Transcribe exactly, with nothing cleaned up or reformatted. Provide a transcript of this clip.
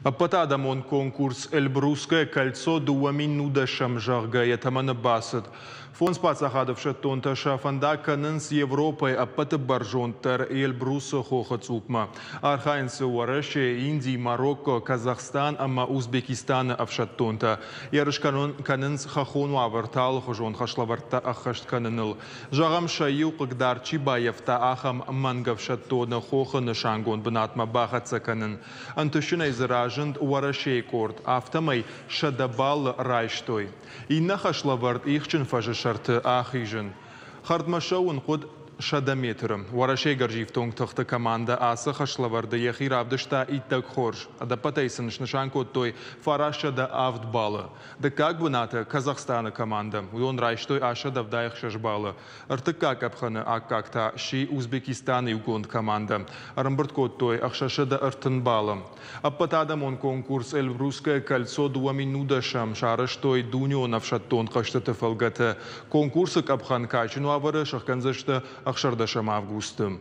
Ӕппӕтадӕмон конкурс «Эльбрусское кольцо» дыууӕ мин нудӕсӕм, зӕгъгӕ, йӕ тӕмӕны бацыд. Фондз паддзахады ӕфсӕддонтӕ сӕ фӕндаг кӕнынц Европӕйы ӕппӕты бӕрзонддӕр Эльбрусы хохы цъупмӕ. Архайынц Уӕрӕсе, Инди, Марокко, Казахстан ӕмӕ Узбекистаны ӕфсӕддонтӕ. Ерыс кӕнынц хӕххон уавӕрты алыхуызон хӕслӕвӕрдтӕ ӕххӕст кӕныныл. Зӕгъӕм, сӕ иу хъыгдард чи баййӕфта, ахӕм мӕнгӕфсӕддоны хохы нысангонд бынатмӕ бахӕццӕ кӕнын. Ӕнтысджынӕй дзы разынд Уӕрӕсейы къорд, афтӕмӕй сӕдӕ баллы райстой. Иннӕ хӕслӕвӕрд ихджын фӕзы сӕрты ахизын. Хӕрдмӕ цӕуын хъуыд сӕдӕ метры. Уӕрӕсейы гӕрзифтонг тыхты командӕ ацы хӕслӕвӕрды йӕхи равдыста иттӕг хорз. Ӕдӕппӕтӕй сын снысан кодтой фарастсӕдӕ авд баллы. Дыккаг бынаты Казахстаны командӕ. Уыдон райстой астсӕдӕ ӕвдай ӕхсӕз баллы. Ӕртыккаг къӕпхӕны аккаг та сси Узбекистаны иугонд командӕ. Ӕрӕмбырд кодтой ӕхсӕзсӕдӕ ӕртын баллы. Ӕппӕтадӕмон конкурс «Эльбрусское кольцо» дыууӕ мин нудӕсӕм сарӕзтой дунеон ӕфсӕддон хъӕзтыты фӕлгӕты. Конкурсы къӕпхӕн кадджын уавӕры сӕхгӕндзысты ӕхсӕрдӕсӕм августы.